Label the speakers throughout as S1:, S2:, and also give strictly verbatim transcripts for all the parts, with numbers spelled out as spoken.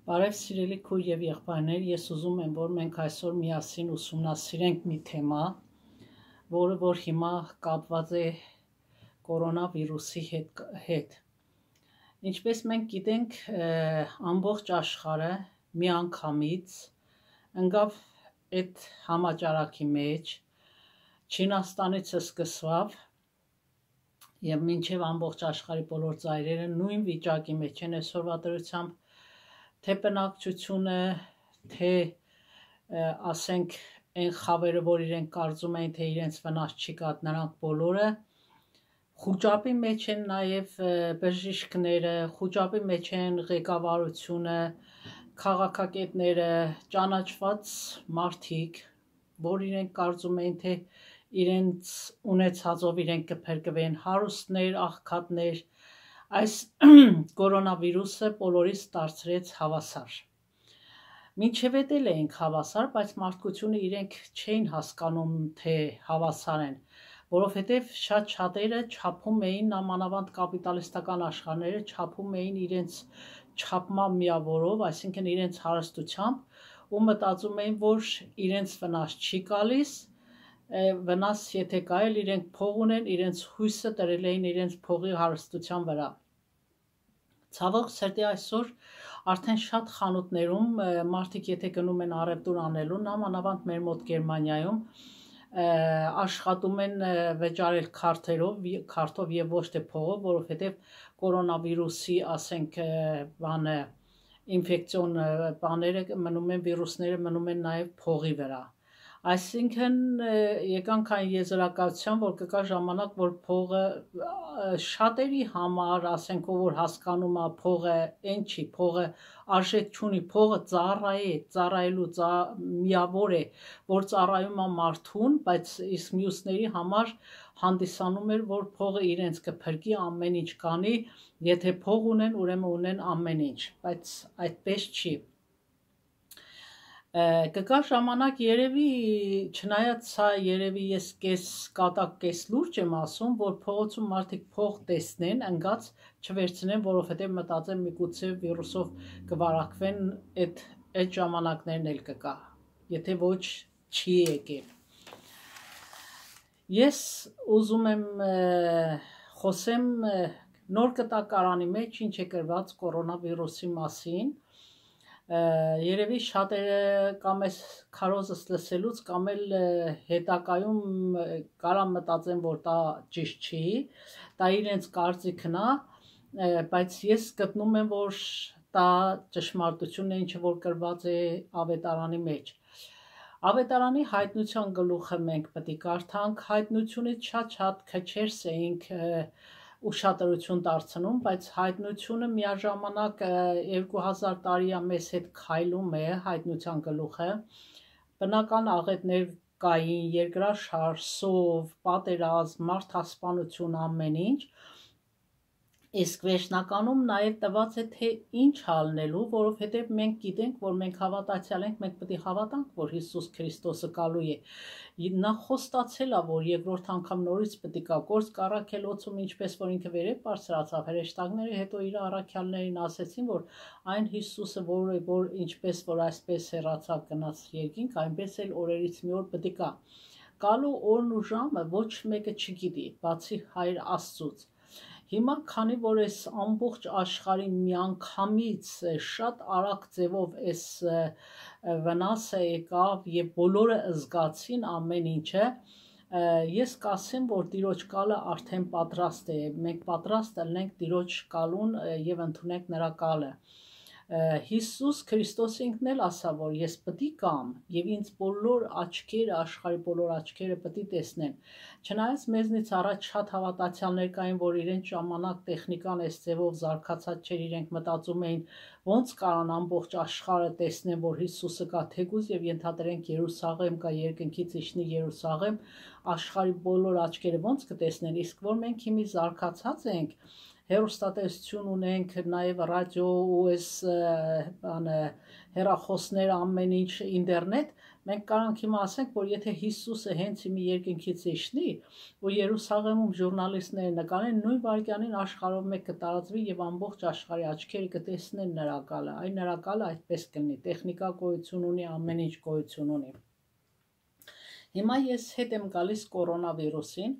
S1: Բարև սիրելի քույր եւ եղբայրներ, ես ուզում եմ, որ մենք այսօր միասին ուսումնասիրենք մի թեմա, որը որ հիմա կապված է կորոնավիրուսի հետ, հետ։ Ինչպես մենք գիտենք, ամբողջ աշխարհը միանգամից ընկավ այդ համաճարակի մեջ, Չինաստանից սկսավ եւ մինչեւ ամբողջ աշխարհի բոլոր ծայրերը նույն վիճակի մեջ են այսօրվա դրությամբ, թե բնակչությունը, թե ասենք այն խավերը, որ իրենք կարծում էին, թե իրենց վնաս չի կա, նրանք բոլորը խուճապի մեջ են, նաև բժիշկները, խուճապի մեջ են ղեկավարությունը, քաղաքագետները, ճանաչված մարդիկ, որ իրենք կարծում էին, թե իրենց ունեցածով իրենք կփրկվեն, հարուստներ, աղքատներ, այս կորոնավիրուսը բոլորիս դարձրեց հավասար։ Մինչև էդ էլ էինք հավասար, բայց մարդկությունը իրենք չէին հասկանում, թե հավասար են, որովհետև շատ շատերը չափում էին, նամանավանդ կապիտալիստական աշխարհները չափում էին իրենց չափման միավորով, այսինքն իրենց հարստությամբ ու մտածում էին, որ իրենց վնաս չի գալիս, վնաս եթե կա էլ իրենք փող ունեն, իրենց հույսը դրել էին իրենց փողի հարստության վրա։ Ցավոք սրտի այսօր արդեն շատ խանութներում մարդիկ եթե գնում են առևտուր անելու, նամանավանդ մեր մոտ Գերմանիայում, աշխատում են վճարել քարտերով, քարտով եւ ոչ թե փողով, որովհետեւ կորոնավիրուսի, ասենք, բանը ինֆեկցիոն բաները մնում են, վիրուսները մնում են նաեւ փողի վրա։ Այսինքն եկանք այն եզրակացության, որ կգա ժամանակ, որ փողը շատերի համար, ասենք, որ հասկանում է փողը այն չի, փողը արժեք չունի, փողը ծառայ է, ծառայելու միավոր է, որ ծառայում է մարդուն, բայց իսկ մյուսների համար հանդիսանում էր, որ փողը իրենց կփրկի, ամեն ինչ կանի, եթե փող ունեն, ուրեմն ունեն ամեն ինչ, բայց այդպես չի։ Կգա ժամանակ երևի, չնայած սա երևի ես կես կատակ կես լուրջ եմ ասում, որ փողոցում մարդիկ փող տեսնեն, ընկած չվերցնեն, որովհետև մտածեն միգուցե վիրուսով կվարակվեն, այդ այդ ժամանակներն էլ կգա, եթե ոչ չի եկել։ Ես ուզում եմ խոսեմ նոր կտակարանի մեջ ինչ է գրված կորոնավիրուսի մասին։ Երևի շատերը կամ այս քարոզս լսելուց կամ էլ հետակայում կարան մտածեն, որ դա ճիշտ չի, դա իրենց կարծիքն է, բայց ես գտնում եմ, որ դա ճշմարտությունն է, ինչը որ գրված է ավետարանի մեջ։ Ավետարանի հայտնության գլուխը մենք պետք է կարդանք, հայտնությունից շատ-շատ քչերս էինք ուշադրություն դարձնում, բայց հայտնությունը միաժամանակ երկու հազար տարի է մեզ հետ քայլում է հայտնության գլուխը, բնական աղետներ կային, երկրաշարժ, սով, պատերազմ, մարդասպանություն, ամեն ինչ, իսկ վերջնականում նաև տված է, թե ինչ ալնելու, որովհետև մենք գիտենք, որ մենք հավատացյալ ենք, մենք պետք է հավատանք, որ Հիսուս Քրիստոսը գալու է։ Նա խոստացել է, որ երկրորդ անգամ նորից պետք է գա, գործ կառաքելոցում, ինչպես որ ինքը վերև բարձրացավ, հրեշտակները հետո իր առաքյալներին ասեցին, որ այն Հիսուսը, որը որ ինչպես որ այսպես հեռացավ գնաց երկինք, այնպես էլ օրերից մի օր պետք է գա։ Գալու օրն ու ժամը ոչ մեկը չգիտի, բացի Հայր Աստծուց։ Հիմա քանի որ այս ամբողջ աշխարհի միանգամից շատ արագ ձևով այս վնասը եկավ եւ բոլորը զգացին ամեն ինչը, ես կասեմ, որ Տիրոջ գալը արդեն պատրաստ է, մենք պատրաստ ենք Տիրոջ գալուն եւ ընդունենք նրա գալը։ Հիսուս Քրիստոս ինքն էլ ասավ, որ ես պետք է գամ եւ ինձ բոլոր աչքերը, աշխարհի բոլոր աչքերը պետք է տեսնեն։ Չնայած մեզնից առաջ շատ հավատացյալներ կային, որ իրենց ժամանակ տեխնիկան այս ձևով զարգացած չէր, իրենք մտածում էին, ոնց կարան ամբողջ աշխարհը տեսնեն, որ Հիսուսը կա, թեկուզ եւ ենթադրենք Երուսաղեմ կա, երկնքից իջնի Երուսաղեմ, աշխարհի բոլոր աչքերը ոնց կտեսնեն, իսկ որ մենք հիմի զարգացած ենք, հեռուստատեսություն ունենք, նաև ռադիո ու այս բանը հեռախոսներ, ամեն ինչ ինտերնետ, Մենք կարանք հիմա ասենք, որ եթե Հիսուսը հենց մի երկնքից իջնի, որ Երուսաղեմում ժուրնալիստները նկարեն, նույն վայրկյանին աշխարհով մեկ կտարածվի եւ ամբողջ աշխարհի աչքերը կտեսնեն նրա գալը։ Այն նրա գալը այդպես կլինի, տեխնիկա գոյություն ունի, ամեն ինչ գոյություն ունի։ Հիմա ես հետ եմ գալիս կորոնավիրուսին։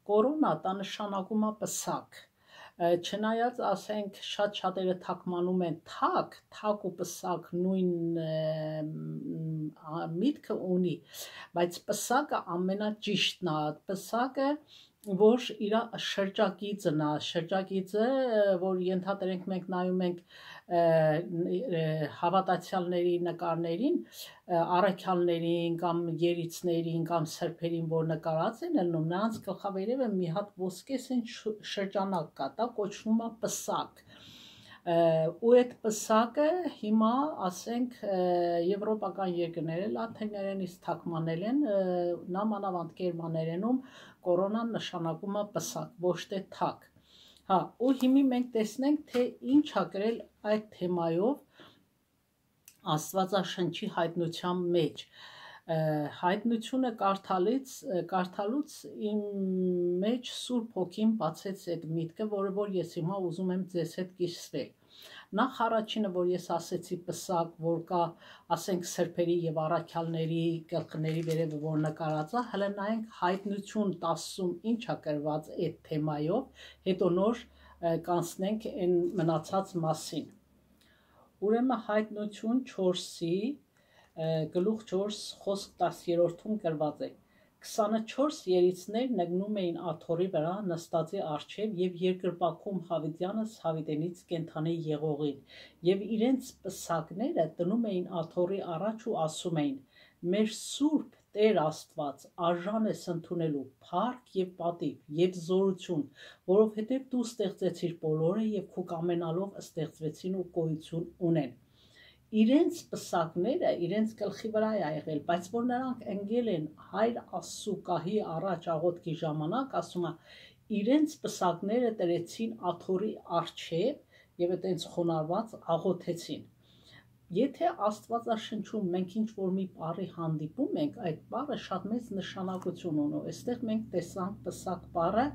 S1: Կորոնա դա նշանակում է պսակ։ Չնայած ասենք շատ շատերը թակմանում են թակ, թակ ու պսակ նույն միտքը ունի, բայց պսակը ամենաճիշտն է, պսակը որ իր շրջակիցն է, շրջակիցը, որ ենթադրենք մենք նայում ենք հավատացյալների նկարներին, առաքյալներին կամ երիցներին կամ սրբերին, որ նկարած են ելնում, նրանց գլխավերևը մի հատ ոսկեսեն շրջանակ կա, դա կոչվում է պսակ։ Ու այդ պսակը հիմա ասենք եվրոպական երկրները լաթիներենից թարգմանել են, նամանավանդ գերմաներենում կորոնան նշանակում է պսակ, ոչ թե թակ։ Հա, ու հիմի մենք տեսնենք, թե ինչ ա գրել այդ թեմայով Աստվածաշնչի հայտնության մեջ։ Հայտնությունը կարդալից, կարդալուց իմ մեջ Սուրբ Հոգին բացեց այդ միտքը, որը որ ես հիմա ուզում եմ ձեզ հետ կիսվել։ Նախ առաջինը, որ ես ասեցի պսակ, որ կա, ասենք սրբերի եւ առաքյալների գլխների վերևը, որ նկարած է, հələ նայենք հայտնություն տասում ինչ ա գրված այդ թեմայով, հետո նոր կանցնենք այն մնացած մասին։ Ուրեմն հայտնություն չորսի գլուխ չորս խոսք տասներորդում գրված է. քսանչորս երիցներ նգնում էին աթոռի վրա նստածի առջև եւ երկրպագում Հավիտյանս Հավիտենից կենթանի եղողին, եւ իրենց պսակները դնում էին աթոռի առաջ ու ասում էին. մեր Սուրբ Տեր Աստված արժան ես ընդունելու փառք եւ պատիվ եւ զորություն, որովհետեւ դու ստեղծեցիր բոլորը եւ քու կամենալով ստեղծվեցին ու գոյություն ունեն։ Իրենց պսակները իրենց գլխի վրա է եղել, բայց որ նրանք ընկել են Հայր Աստծու գահի առաջ աղոթքի ժամանակ, ասում է, իրենց պսակները տրեցին աթոռի առջև եւ այտենց խոնարհված աղոթեցին։ Եթե Աստվածաշնչում մենք ինչ-որ մի բառի հանդիպում ենք, այդ բառը շատ մեծ նշանակություն ունի։ Այստեղ մենք տեսանք պսակ բառը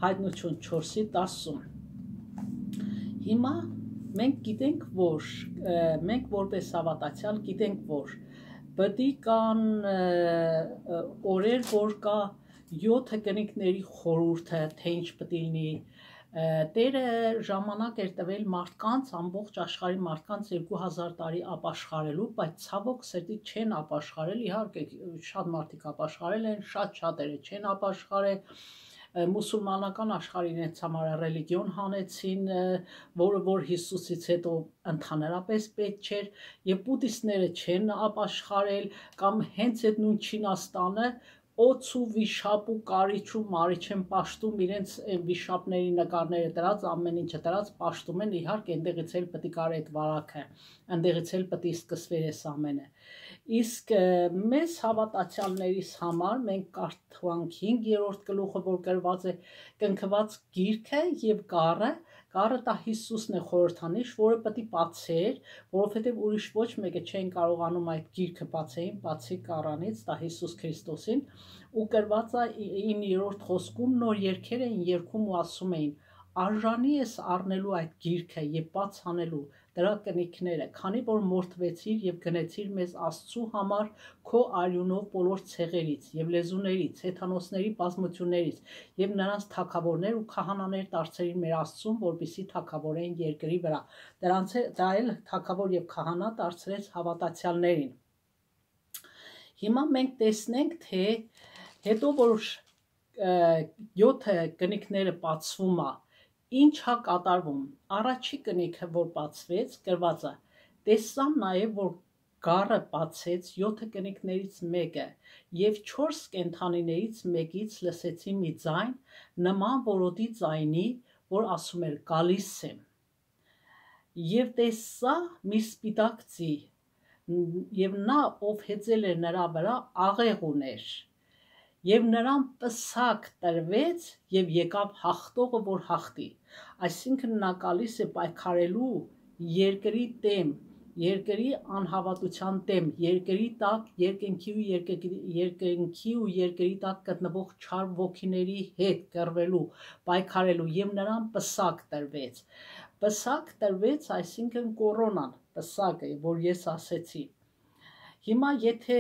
S1: հայտնություն չորսի տասում։ Հիմա մենք գիտենք, որ մենք որպես հավատացյալ գիտենք, որ պետք կան օրեր, որ կա յոթ կնիկների խորհուրդը, թե ինչ պետք լինի։ Տերը ժամանակ էր տվել մարդկանց, ամբողջ աշխարհի մարդկանց երկու հազար տարի ապաշխարելու, բայց ցավոք սրտի չեն ապաշխարել, իհարկե շատ մարդիկ ապաշխարել են, շատ շատերը չեն ապաշխարել, մուսուլմանական աշխարհին իրենց համար ռելիգիոն հանեցին, որը որ Հիսուսից հետո ընդհանրապես պետք չէր, եւ բուդդիստները չեն ապաշխարել, կամ հենց այդ նույն Չինաստանը օց ու վիշապ ու կարիչ ու մարիչ են պաշտում, իրենց վիշապների նկարները դրած, ամեն ինչը դրած պաշտում են, իհարկե այնտեղից էլ պետք է կար այդ վարակը, այնտեղից էլ պետք է սկսվեր այս ամենը։ Իսկ մեզ հավատացյալներիս համար մենք կարդանք հինգերորդ գլուխը, որ գրված է կնքված գիրքը եւ գառը, գառը դա Հիսուսն է խորհրդանիշ, որը պետք է բացեր, որովհետեւ ուրիշ ոչ մեկը չեն կարողանում այդ գիրքը բացեին, բացի գառանից, դա Հիսուս Քրիստոսին, ու գրված է իններորդ խոսքում նոր երգեր էին երգում ու ասում էին. արժանի ես առնելու այդ գիրքը եւ բաց անելու դրա կնիքները, քանի որ մորթվեցիր եւ գնեցիր մեզ Աստծու համար քո արյունով բոլոր ցեղերից եւ լեզուներից, հեթանոսների բազմություններից եւ նրանց թագավորներ ու քահանաներ դարձրին մեր Աստծուն, որպիսի թագավորեն երկրի վրա։ Դրանց դա էլ թագավոր եւ քահանա դարձրեց հավատացյալներին։ Հիմա մենք տեսնենք, թե հետո որ յոթ կնիքները բացվում է, ինչ է կատարվում։ Առաջի կնիքը, որ բացվեց, գրված է. տեսա նաև, որ գառը բացեց յոթ կնիքներից մեկը, եւ չորս կենդանիներից մեկից լսեցի մի ձայն, նման որոտի ձայնի, որ ասում էր գալիս եմ։ Եվ տեսա մի սպիտակ ձի, եւ նա, ով հեծել էր նրա վրա, աղեղ ուներ։ Եվ նրան պսակ տրվեց եւ եկավ հաղթողը, որ հաղթի։ Այսինքն նա գալիս է պայքարելու երկրի դեմ, երկրի անհավատության դեմ, երկրի տակ, երկնքի ու երկնքի ու երկրի տակ գտնվող չար ոգիների հետ կռվելու, պայքարելու եւ նրան պսակ տրվեց։ Պսակ տրվեց, այսինքն կորոնան, պսակը, որ ես ասեցի։ Հիմա եթե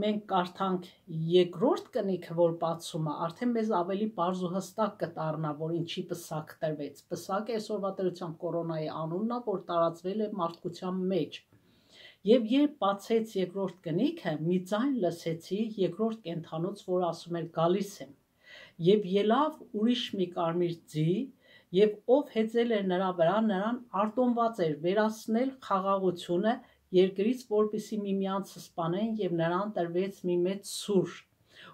S1: մենք կարդանք երկրորդ կնիքը, որ բացում է, արդեն մեզ ավելի պարզ ու հստակ կդառնա, որ ինչի պսակ տրվեց։ Պսակը այսօրվա դրությամբ կորոնայի անունն է, որ տարածվել է մարդկության մեջ։ Եվ երբ բացեց երկրորդ կնիքը, մի ձայն լսեցի երկրորդ կենդանուց, որ ասում էր գալիս եմ։ Եվ ելավ ուրիշ մի կարմիր ձի, եւ ով հեծել էր նրա վրա, նրան արտոնված էր վերացնել խաղաղությունը երկրից, որպեսզի միմյանց սպանեն, եւ նրան տրվեց մի մեծ սուր։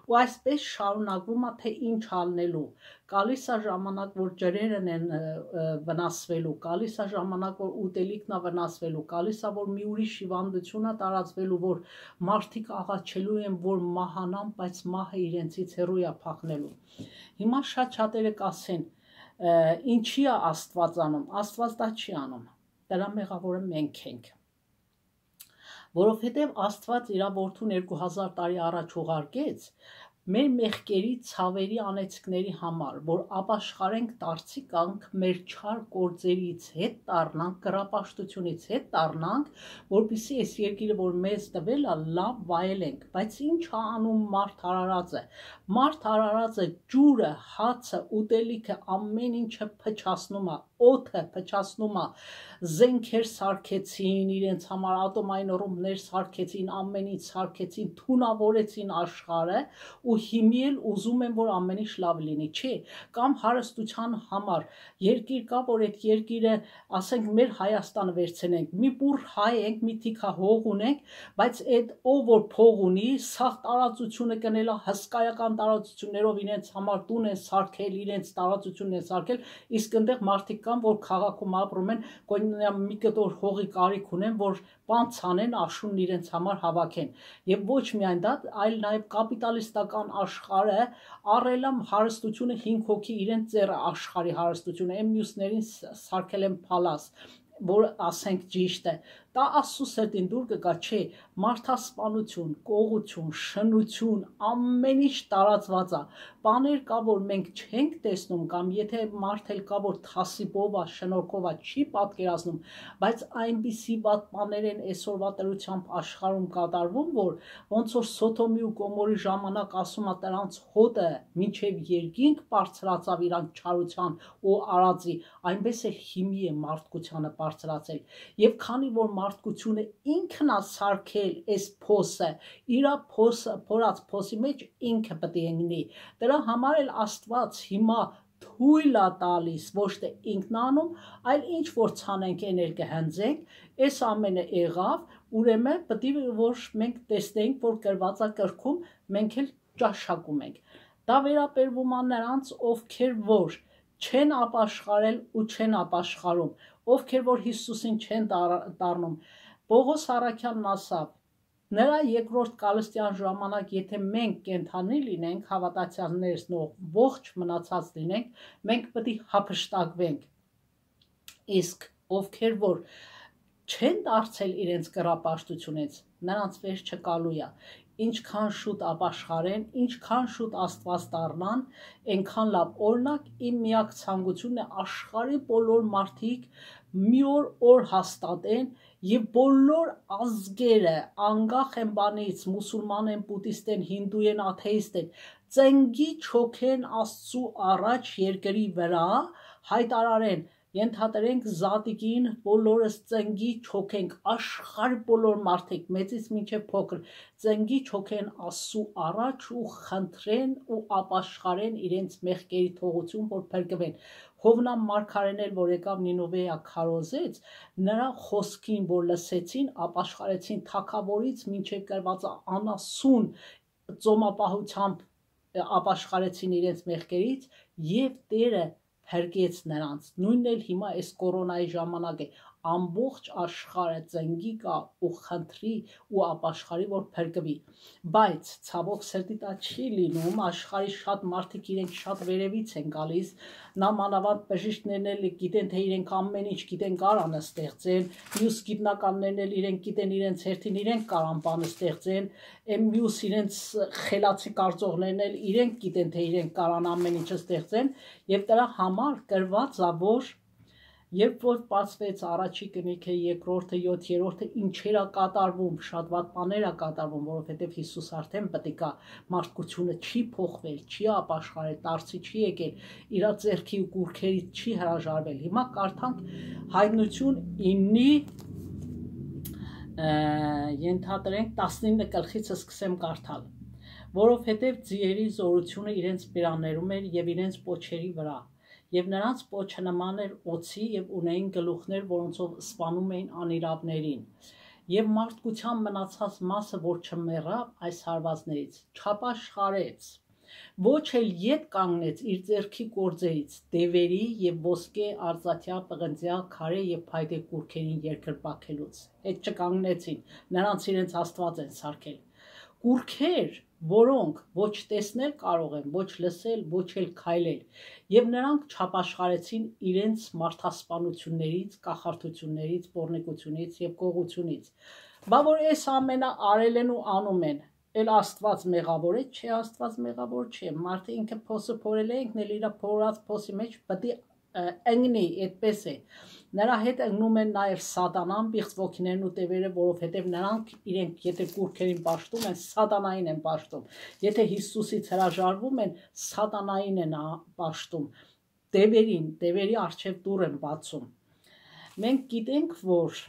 S1: Ու այսպես շարունակվում է, թե ինչ անելու։ Գալիս է ժամանակ, որ ջրերն են վնասվելու, գալիս է ժամանակ, որ ուտելիքն է վնասվելու, գալիս է, որ մի ուրիշ հիվանդություն է տարածվելու, որ մարդիկ աղաչելու են, որ մահանան, բայց մահը իրենցից հեռու է փախնելու։ Հիմա շատ շատերը կասեն, ինչի է Աստված անում։ Աստված դա չի անում։ Դրա մեղավորը մենք ենք։ Որովհետև Աստված իր որդուն երկու հազար տարի առաջ ուղարկեց մեր մեղքերի, ցավերի, անեծքների համար, որ ապաշխարենք դարձի կանք մեր չար գործերից հետ դառնանք, կռապաշտությունից հետ դառնանք, որպեսզի այս երկիրը, որ մեզ տվել է, լավ վայելենք։ Բայց ինչ է անում մարդ արարածը։ Մարդ արարածը ջուրը, հացը, ուտելիքը, ամեն ինչը փչացնում է, օդը փչացնում է, զենքեր սարքեցին իրենց համար, ատոմային ռումբներ սարքեցին, ամեն ինչ սարքեցին, թունավորեցին աշխարհը ու հիմի էլ ուզում են, որ ամեն ինչ լավ լինի, չէ, կամ հարստության համար երկիր կա, որ այդ երկիրը, ասենք, մեր Հայաստանը վերցնենք, մի բուռ հայ ենք, մի թիքա հող ունենք, բայց այդ ով որ փող ունի, սաղ տարածությունը կնել է հսկայական տարածություններով իրենց համար տուն են սարքել, իրենց տարածությունն են սարքել, իսկ այնտեղ մարդիկ կան, որ քաղաքում ապրում են, մի կտոր հողի կարիք ունեն, որ բան ցանեն, աշունն իրենց համար հավաքեն։ Եվ ոչ միայն դա, այլ նաև կապիտալիստական աշխարհը առել է հարստությունը հինգ հոգի իրենց ծերը աշխարհի հարստությունը, այն մյուսներին սարքել են փալաս, որ ասենք ճիշտ է, դա Աստծո սրտին դուր կգա, չէ, մարդասպանություն, կողություն, շնություն, ամեն ինչ տարածված է, բաներ կա, որ մենք չենք տեսնում, կամ եթե մարդ էլ կա, որ թասիբով է, շնորհքով է, չի պատկերացնում, բայց այնպիսի վատ բաներ են այսօրվա դրությամբ աշխարհում կատարվում, որ ոնց որ Սոդոմի ու Գոմորի ժամանակ ասում է նրանց հոտը մինչև երկինք բարձրացավ իրանք չարության ու արածի, այնպես է հիմի է մարդկությանը բարձրացել, եւ քանի որ մարդկությունը ինքն է սարքել այս փոսը, իր փոսը, փորած փոսի մեջ ինքը պետք է ընկնի։ Դրա համար էլ Աստված հիմա թույլ է տալիս, ոչ թե ինքն անում, այլ ինչ որ ցանենք այն էլ կհնձենք, այս ամենը եղավ, ուրեմն պետք է որ մենք տեսնենք, որ գրված է գրքում, մենք էլ ճաշակում ենք։ Դա վերաբերվում է նրանց, ովքեր որ չեն ապաշխարել ու չեն ապաշխարում, ովքեր որ Հիսուսին չեն դառնում։ Պողոս առաքյալն ասավ, նրա երկրորդ կալստյան ժամանակ, եթե մենք կենդանի լինենք, հավատացյալներս ողջ մնացած լինենք, մենք պետք է հափշտակվենք։ Իսկ ովքեր որ չեն դարձել իրենց կռապաշտությունից, նրանց վերջը կալու է։ Ինչքան շուտ ապաշխարեն, ինչքան շուտ Աստված դառնան, այնքան լավ։ Օրինակ, իմ միակ ցանկությունն է աշխարհի բոլոր մարդիկ մի օր օր հաստատեն եւ բոլոր ազգերը, անկախ են բանից, մուսուլման են, բուդդիստ են, հինդու են, աթեիստ են, ծնգի չոքեն Աստծու առաջ երկրի վրա, հայտարարեն, ենթադրենք զատիկին, բոլորս ծնգի չոքենք, աշխարհի բոլոր մարդիկ, մեծից մինչև փոքր, ծնգի չոքեն Աստծու առաջ ու խնդրեն ու ապաշխարեն իրենց մեղքերի թողություն, որ փրկվեն։ Հովնամ մարգարեն էլ, որ եկավ Նինովեա քարոզեց, նրա խոսքին, որ լսեցին, ապաշխարեցին թագավորից մինչև գրված անասուն ծոմապահությամբ ապաշխարեցին իրենց մեղքերից եւ Տերը փրկեց նրանց։ Նույնն էլ հիմա այս կորոնայի ժամանակ է, ամբողջ աշխարհը ծնգի կա ու խնդրի ու ապաշխարի, որ փրկվի։ Բայց ցավոք սրտի դա չի լինում, աշխարհի շատ մարդիկ իրենք շատ վերևից են գալիս, նամանավանդ բժիշկներն էլ գիտեն, թե իրենք ամեն ինչ գիտեն, կարան ստեղծեն, մյուս գիտնականներն էլ իրենք գիտեն իրենց հերթին իրենք կարան բան ստեղծեն, այն մյուս իրենց խելացի կարծողներն էլ իրենք գիտեն, թե իրենք կարան ամեն ինչ ստեղծեն, եւ դրա համար գրված է, որ երբ որ բացվեց առաջի կնիքը, երկրորդը, յոթերորդը, ինչեր է կատարվում, շատ վատ բաներ է կատարվում, որովհետև Հիսուս արդեն պետք է մարդկությունը չի փոխվել, չի ապաշխարել, տարցի չի եկել, իր ձեռքի ու կուրքերից չի հրաժարվել։ Հիմա կարդանք Հայտնություն իննի ենթադրենք տասնինը գլխից սկսեմ կարդալ, որովհետև ձիերի զորությունը իրենց բերաններում էր եւ իրենց պոչերի վրա, եւ նրանց պոչը նման էր օձի եւ ունեին գլուխներ, որոնցով սպանում էին անիրավներին, եւ մարդկության մնացած մասը, որ չմեռավ այս հարվածներից, չապաշխարեց, ոչ էլ ետ կանգնեց իր ձեռքի գործերից, դևերի եւ ոսկե, արծաթյա, պղնձյա, քարե եւ փայտե կուրքերին երկրպագելուց, հետ չկանգնեցին, նրանց իրենց Աստված են սարքել, կուրքեր, որոնք ոչ տեսնել կարող են, ոչ լսել, ոչ էլ քայլել, եւ նրանք չապաշխարեցին իրենց մարդասպանություններից, կախարդություններից, պոռնիկությունից եւ գողությունից։ Բա որ այս ամենը արել են ու անում են, էլ Աստված մեղավոր է, չէ, Աստված մեղավոր չէ, մարդը ինքը փոսը փորել է, ինքն էլ իր փորած փոսի մեջ պետք է ընկնի, այդպես է։ Նրա հետ ընկնում են նաև սատանան, բիղծ ոգիներն ու տևերը, որովհետև նրանք իրենք եթե կուրքերին պաշտում են, սատանային են պաշտում։ Եթե Հիսուսից հրաժարվում են, սատանային են պաշտում։ Տևերին, տևերի առջև դուռ են բացում։ Մենք գիտենք, որ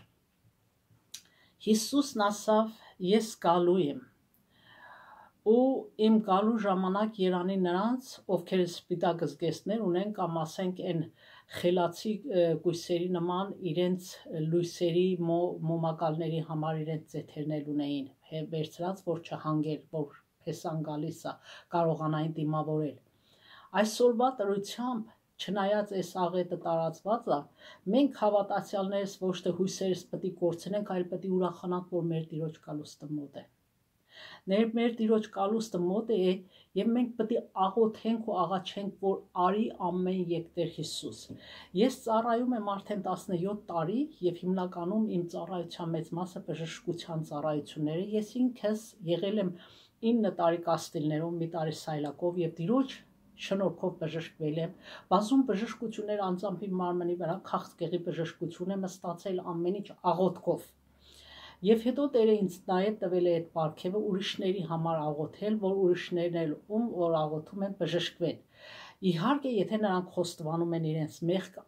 S1: Հիսուսն ասավ, ես գալու եմ։ Ու իմ գալու ժամանակ երանի նրանց, ովքեր սպիտակ զգեստներ ունեն, կամ ասենք այն խելացի կույսերի նման իրենց լույսերի մոմակալների համար իրենց ձեթերներ ունեին, վերցրած, որ չհանգեր, որ փեսան գալիս է, կարողանային դիմավորել։ Այսօրվա տրությամբ, չնայած այս աղետը տարածված է, մենք հավատացյալներս ոչ թե հույսերս պետք է կորցնենք, այլ պետք է ուրախանանք, որ մեր Տիրոջ կալուստը մոտ է։ Ներ մեր Տիրոջ կալուստը մոտ է, եւ մենք պետք է աղոթենք ու աղաչենք, որ արի ամեն եկտեր Հիսուս։ Ես ծառայում եմ արդեն տասնյոթ տարի եւ հիմնականում իմ ծառայության մեծ մասը բժշկության ծառայություններ է։ Ես ինքս եղել եմ ինը տարի կաստիլներով, մի տարի սայլակով եւ Տիրոջ շնորհքով բժշկվել եմ։ Բազում բժշկություններ անձամբ իմ մարմնի վրա քաղցկեղի բժշկություն եմ ստացել ամեն ինչ աղոթքով։ Եվ հետո Տերը ինձ նաև տվել է այդ պարգևը ուրիշների համար աղոթել, որ ուրիշներն էլ ում որ աղոթում են բժշկվեն։ Իհարկե, եթե նրանք խոստովանում են իրենց մեղք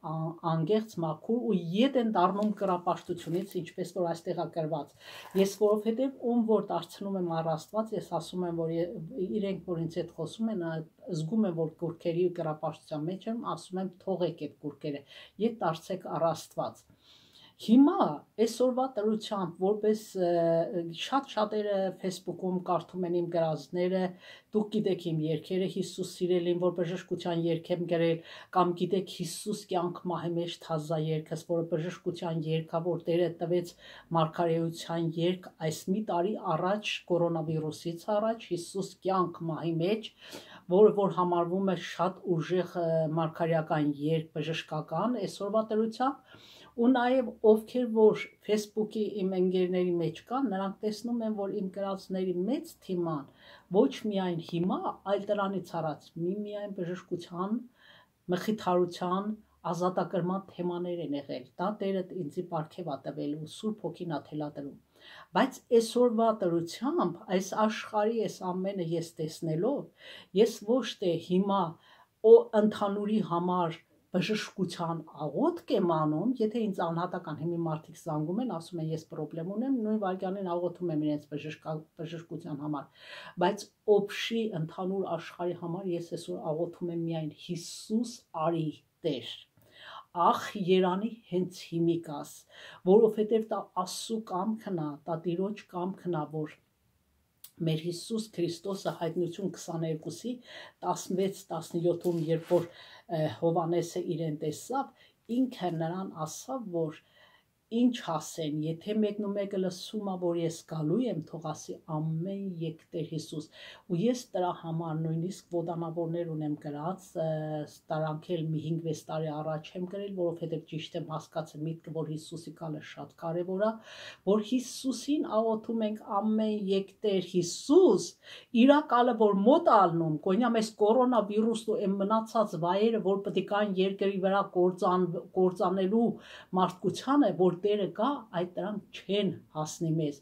S1: անգեղծ մաքուր ու ետ են դառնում կռապաշտությունից, ինչպես որ այստեղ է գրված։ Ես որովհետև ում որ դարձնում եմ առ Աստված, ես ասում եմ, որ իրենք որ ինձ հետ խոսում են, զգում եմ, որ կուրքերի կռապաշտության մեջ եմ, ասում եմ թողեք այդ կուրքերը, ետ դարձեք առ Աստված։ Հիմա այսօրվա տրությամբ, որպես շատ շատերը Facebook-ում կարդում են իմ գրածները, դուք գիտեք իմ երգերը, Հիսուս սիրելին, որ բժշկության երգ եմ գրել, կամ գիտեք Հիսուս կյանք մահի մեջ թազա երգս, որը բժշկության երգա, որ Տերը տվեց մարգարեության երգ այս մի տարի առաջ, կորոնավիրուսից առաջ, Հիսուս կյանք մահի մեջ, որը որ համարվում է շատ ուժեղ մարգարեական երգ բժշկական, այսօրվա տրությամբ ու նաև ովքեր որ Facebook-ի իմ ընկերների մեջ կան, նրանք տեսնում են, որ իմ գրածների մեծ թիման ոչ միայն հիմա, այլ դրանից առաջ միմիայն բժշկության, մխիթարության, ազատագրման թեմաներ են եղել։ Դա Տերը ինձի պարգև է տվել ու Սուրբ Հոգին է թելադրում։ Բայց այսօրվա տրությամբ այս աշխարհի այս ամենը ես տեսնելով, ես ոչ թե հիմա օ ընդհանուրի համար բժշկության աղոթք եմ անում, եթե ինձ անհատական հիմի մարդիկ զանգում են, ասում են ես պրոբլեմ ունեմ, նույն վայրկյանին աղոթում եմ իրենց բժշկության համար, բայց օբշի ընդհանուր աշխարհի համար ես այսօր աղոթում եմ միայն Հիսուս արի Տեր, ախ երանի հենց հիմիկաս, որովհետև դա Աստծո կամքն է, դա Տիրոջ կամքն է, որ մեր Հիսուս Քրիստոսը Հայտնություն քսաներկուսի տասնվեց տասնյոթում, երբ որ Հովանեսը իրեն տեսավ, ինքը նրան ասավ, որ ինչ ասեն, եթե մեկն ու մեկը լսում է, որ ես գալու եմ, թող ասի ամեն եկ Տեր Հիսուս։ Ու ես դրա համար նույնիսկ ոտանավորներ ունեմ գրած, տարանքել մի հինգ-վեց տարի առաջ եմ գրել, որովհետև ճիշտ եմ հասկացել միտքը, որ Հիսուսի գալը շատ կարևոր է, որ Հիսուսին աղոթում ենք ամեն եկ Տեր Հիսուս, իր գալը որ մոտ ալնում, գոնյա մեզ կորոնավիրուսն ու այն մնացած վայրերը, որ պետք է կան երկրի վրա գործան, գործանելու մարդկությանը, որ Տերը կա, այդ դրանք չեն հասնի մեզ,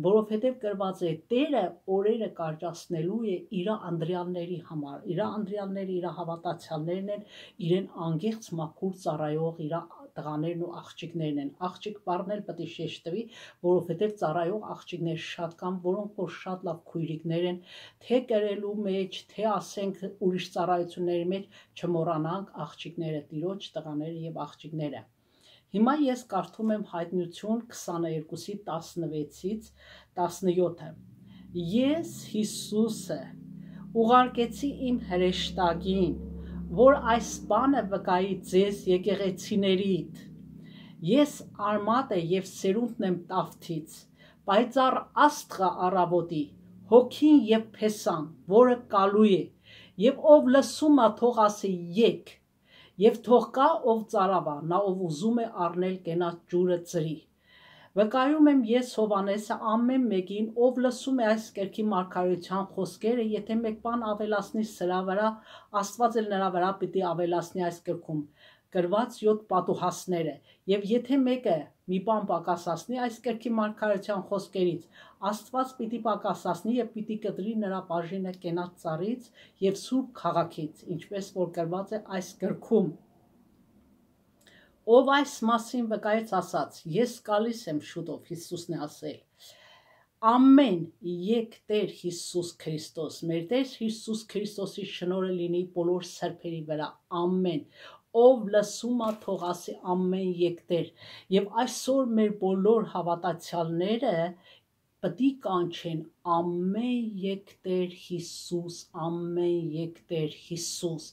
S1: որովհետև գրված է Տերը օրերը կարճացնելու է իր անդրյալների համար, իր անդրյալները իր հավատացյալներն են, իրեն անգեղծ մաքուր ծառայող իր տղաներն ու աղջիկներն են, աղջիկ բառն էլ պետք է շեշտվի, որովհետև ծառայող աղջիկներ շատ կան, որոնք որ շատ լավ քույրիկներ են, թե կրելու մեջ, թե ասենք ուրիշ ծառայությունների մեջ չմոռանանք աղջիկները, տիրոջ տղաները եւ աղջիկները։ Հիմա ես կարդում եմ Հայտնություն քսաներկուսի տասնվեցից տասնյոթը։ Ես Հիսուսը ուղարկեցի իմ հրեշտակին, որ այս բանը վկայի ձեզ եկեղեցիներիդ։ Ես արմատը եւ սերունդն եմ տավթից, պայծառ աստղը առավոտի, հոգին եւ փեսան, որը կալու է, եւ ով լսում է, թող ասի եկ, եւ թող կա ով ծարավա, նա ով ուզում է առնել կենաց ջուրը ծրի։ Վկայում եմ ես Հովանեսը ամեն մեկին, ով լսում է այս կերքի մարգարեության խոսքերը, եթե մեկ բան ավելացնի սրա վրա, Աստված էլ նրա վրա պիտի ավելացնի այս կերքում գրված յոթ պատուհասները, եւ եթե մեկը մի բան պակասացնի այս կերքի մարգարեության խոսքերից, Աստված պիտի պակասացնի եւ պիտի կտրի նրա բաժինը կենաց ծառից եւ սուրբ քաղաքից, ինչպես որ գրված է այս գրքում։ Ով այս մասին վկայեց ասաց. Ես գալիս եմ շուտով, Հիսուսն է ասել։ Ամեն եկ Տեր Հիսուս Քրիստոս, մեր Տեր Հիսուս Քրիստոսի շնորհը լինի բոլոր սրբերի վրա, ամեն, ով լսում է, թող ասի ամեն եկ Տեր, եւ այսօր մեր բոլոր հավատացյալները պետք է կանչեն ամեն եկ Տեր Հիսուս, ամեն եկ Տեր Հիսուս։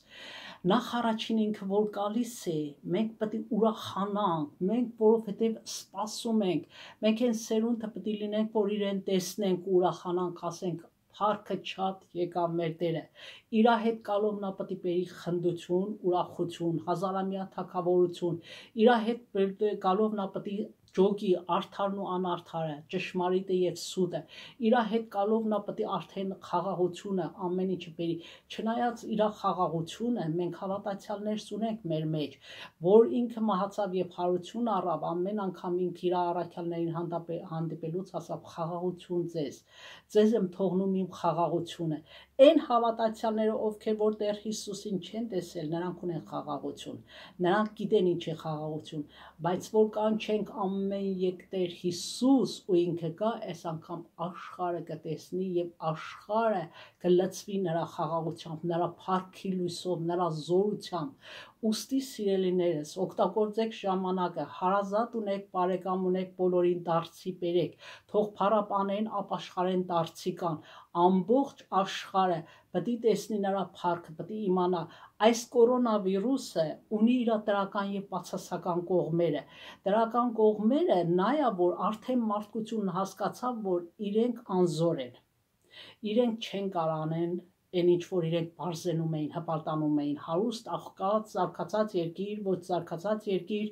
S1: Նախ առաջին ինքը որ գալիս է, մենք պետք է ուրախանանք, մենք որովհետև սպասում ենք, մենք այն սերունդը պետք է լինենք, որ իրեն տեսնենք, ուրախանանք, ասենք Փառքը շատ եկավ մեր Տերը։ Իր հետ գալով նա պետք է բերի խնդություն, ուրախություն, հազարամյա թագավորություն։ Իր հետ գալով նա պետք է ջոգի արդարն ու անարդարը, ճշմարիտը եւ սուտը։ Իր հետ գալով նա պետք է արդեն խաղաղությունը ամեն ինչը բերի։ Չնայած իր խաղաղությունը մենք հավատացյալներս ունենք մեր մեջ, որ ինքը մահացավ եւ հարություն առավ, ամեն անգամ ինքը իր առաքյալներին հանդիպելուց ասավ խաղաղություն ձեզ։ Ձեզ եմ թողնում իմ խաղաղությունը։ Այն հավատացյալները, ովքեր որ Տեր Հիսուսին չեն տեսել, նրանք ունեն խաղաղություն։ Նրանք գիտեն ինչ է խաղաղություն, բայց որ կանչենք ամեն եկ Տեր Հիսուս ու ինքը գա, այս անգամ աշխարհը կտեսնի եւ աշխարհը կլցվի նրա խաղաղությամբ, նրա փառքի լույսով, նրա զորությամբ։ Ուստի սիրելիներս, օգտագործեք ժամանակը, հարազատ ունեք, բարեկամ ունեք, բոլորին դարձի բերեք, թող փառապանեն, ապաշխարեն դարձի կան, ամբողջ աշխարհը պետք է տեսնի նրա փառքը, պետք է իմանա այս կորոնավիրուսը ունի իր դրական եւ բացասական կողմերը։ Դրական կողմերը նա է, որ արդեն մարդկությունն հասկացավ, որ իրենք անզոր են, իրենք չեն կարող անեն այն ինչ որ իրենք բարձենում էին, հպարտանում էին, հարուստ, աղքատ, զարգացած երկիր, ոչ զարգացած երկիր,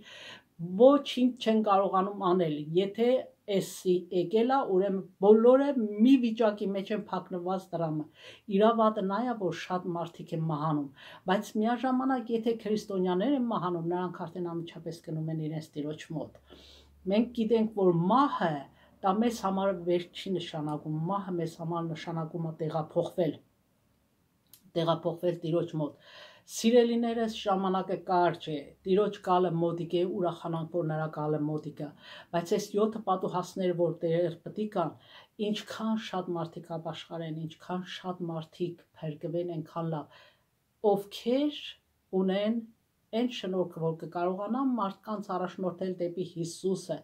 S1: ոչինչ չեն կարողանում անել։ Եթե էսի եկել է, ուրեմն բոլորը մի վիճակի մեջ են փակնված դրամը։ Իրավատը նա է, որ շատ մարդիկ են մահանում, բայց միաժամանակ եթե քրիստոնյաներ են մահանում, նրանք արդեն անմիջապես գնում են իրենց Տիրոջ մոտ։ Մենք գիտենք, որ մահը դա մեզ համար վերջ չի նշանակում, մահը մեզ համար նշանակում է տեղափոխվել, տեղափոխվել Տիրոջ մոտ։ Սիրելիներս, ժամանակը կարճ է, Տիրոջ գալը մոտիկ է, ուրախանանք, որ նրա գալը մոտիկ է, բայց այս յոթ պատուհասները, որ Տեր պետք է կան, ինչքան շատ մարդիկ ապաշխարեն, ինչքան շատ մարդիկ փրկվեն, այնքան լավ, ովքեր ունեն այն շնորհքը, որ կկարողանան մարդկանց առաջնորդել դեպի Հիսուսը,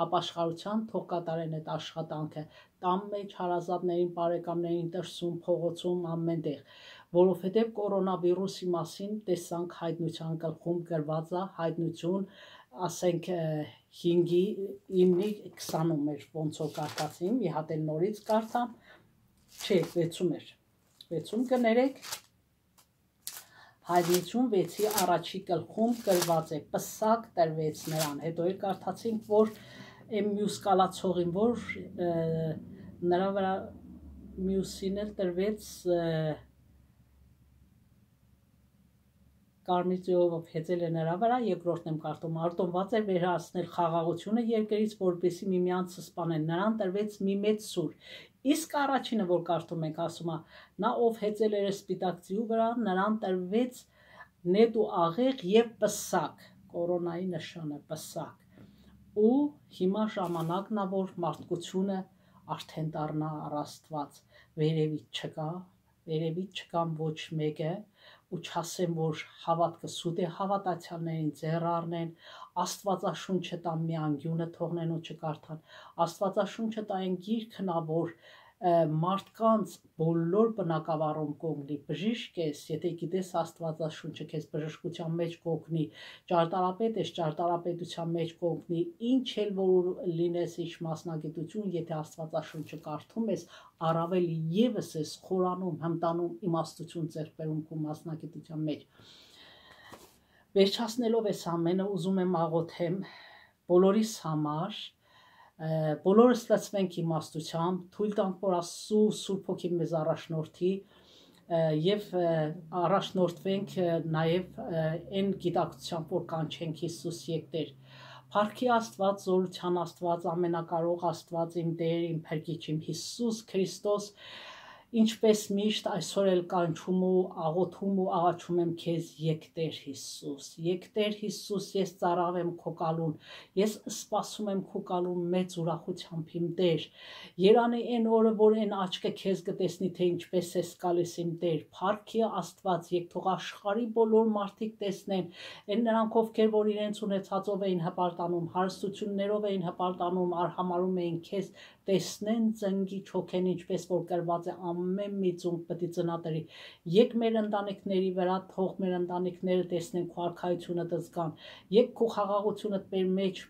S1: ապաշխարության թող կատարեն այդ աշխատանքը, տան մեջ հարազատներին, բարեկամներին, դրսում, փողոցում, ամենտեղ, որովհետև կորոնավիրուսի մասին տեսանք Հայտնության գլխում գրված է, Հայտնություն, ասենք հինգի իննի քսանում էր ոնց որ կարդացի մի հատ էլ նորից կարդամ չէ վեցում էր վեցում կներեք հարյուրվեցի առաջի գլխում գրված է պսակ տրվեց նրան հետո էլ կարդացինք որ այն մյուս կալացողին որ նրա վրա մյուսին էլ տրվեց Կարմիր ձևով հեծել է նրա վրա, երկրորդն եմ կարդում, արտոնված էր վերահասնել խաղաղությունը երկրից, որպեսզի միմյանցը սպանեն, նրան տրվեց մի մեծ սուր։ Իսկ առաջինը, որ կարդում ենք, ասում է, նա ով հեծել էր սպիտակ ձիու վրա, նրան տրվեց նետ ու աղեղ եւ պսակ, կորոնայի նշանը պսակ։ Ու հիմա ժամանակն է, որ մարդկությունը արդեն դառնա առ Աստված, վերևից չկա, վերևից չկան ոչ մեկը ու չասեմ, որ հավատքը սուտ է հավատացյալներին ձեռ առնեն, Աստվածաշունչը տան մի անգյունը թողնեն ու չկարդան, Աստվածաշունչը տային գիրքն ա, որ մարդկանց բոլոր բնակավարում կողնի, բժիշկ ես, եթե գիտես Աստվածաշունչը քեզ բժշկության մեջ կողնի, ճարտարապետ ես, ճարտարապետության մեջ կողնի, ինչ էլ որ լինես ինչ մասնագիտություն, եթե Աստվածաշունչը կարդում ես, առավել ևս ես խորանում, հմտանում, իմաստություն ձեռք բերում քո մասնագիտության մեջ։ Վերջացնելով այս ամենը ուզում եմ աղոթեմ բոլորիս համար, բոլորս լցվենք իմաստությամբ, թույլ տանք, որ Աստծո Սուրբ Հոգին մեզ առաջնորդի եւ առաջնորդվենք նաեւ այն գիտակցությամբ, որ կանչենք Հիսուս եկտեր։ Փառքի Աստված, զորության Աստված, ամենակարող Աստված, իմ Տեր, իմ Փրկիչ, իմ Հիսուս Քրիստոս, ինչպես միշտ այսօր էլ կանչում ու աղոթում ու աղաչում եմ քեզ եկտեր Հիսուս, եկտեր Հիսուս, ես ծառայեմ քո կալուն, ես սպասում եմ քո կալուն մեծ ուրախությամբ իմ Տեր, երանի այն օրը, որ այն աչքը քեզ կտեսնի, թե ինչպես ես գալիս իմ Տեր, փառքի Աստված, եկ թող աշխարհի բոլոր մարդիկ տեսնեն, այն նրանք ովքեր որ իրենց ունեցածով էին հպարտանում, հարստություններով էին հպարտանում, արհամարում էին քեզ, տեսնեն ծնգի չոքեն, ինչպես որ գրված է ամեն մի ծունկ պետք է ծնատրի։ Եկ մեր ընտանիքների վրա թող մեր ընտանիքները տեսնեն քո արքայությունը դզգան։ Եկ քո խաղաղությունը մեր մեջ,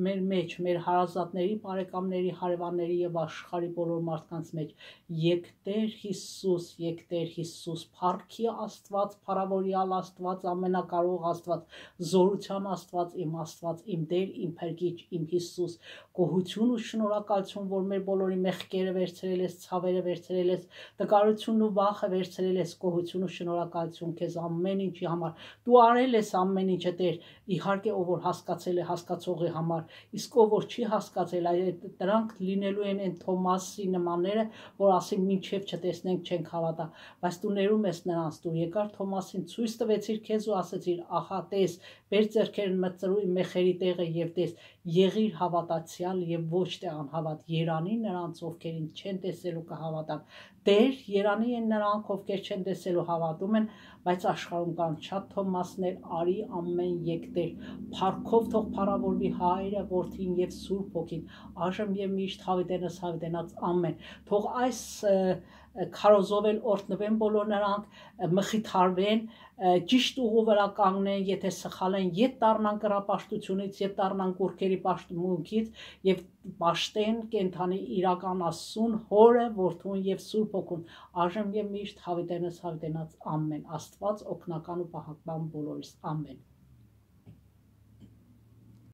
S1: մեր մեջ, մեր հարազատների, բարեկամների, հարևանների եւ աշխարհի բոլոր մարդկանց մեջ։ Եկ Տեր Հիսուս, եկ Տեր Հիսուս, փառքի Աստված, փառավորյալ Աստված, ամենակարող Աստված, զորության Աստված, իմ Աստված, իմ Տեր, իմ Փրկիչ, իմ Հիսուս, գոհություն ու շնորհակալություն, որ մեր բոլորի մեղքերը վերցրել ես, ցավերը վերցրել ես, տկարությունն ու վախը վերցրել ես, գոհություն ու շնորհակալություն քեզ ամեն ինչի համար։ Դու արել ես ամեն ինչը, Տեր, իհարկե ով որ հասկացել է հասկացողի համար, իսկ ով որ չի հասկացել, այդ դրանք լինելու են այն Թոմասի նմանները, որ ասին մինչև չտեսնենք չենք հավատա, բայց դու ներում ես նրանց, դու եկար Թոմասին ցույց տվեցիր քեզ ու ասեցիր, ահա տես, բեր ձեռքերն մտցրու իմ մեխերի տեղը եւ տես, եղիր հավատացյալ եւ ոչ թե անհավատ, երանի նրանց ովքեր ինձ չեն տեսել ու կհավատան։ Տեր, երանի են նրանք, ովքեր չեն տեսել ու հավատում են, բայց աշխարհում կան շատ Թոմասներ, արի ամեն եկտեր, փառքով թող փառավորվի Հայրը, Որդին եւ Սուրբ Հոգին, այժմ եւ միշտ հավիտենս հավիտենած ամեն։ Թող այս քարոզով էլ օրհնվեն բոլոր նրանք, մխիթարվեն, ճիշտ ուղու վրա կանգնեն, եթե սխալ են, ետ դառնան կռապաշտությունից, ետ դառնան կուրքերի պաշտմունքից եւ պաշտեն կենթանի իրական Աստծուն, Հորը, Որդուն եւ Սուրբ Հոգուն, այժմ եւ միշտ հավիտենս հավիտենած ամեն։ Աստված օգնական ու պահապան բոլորիս ամեն։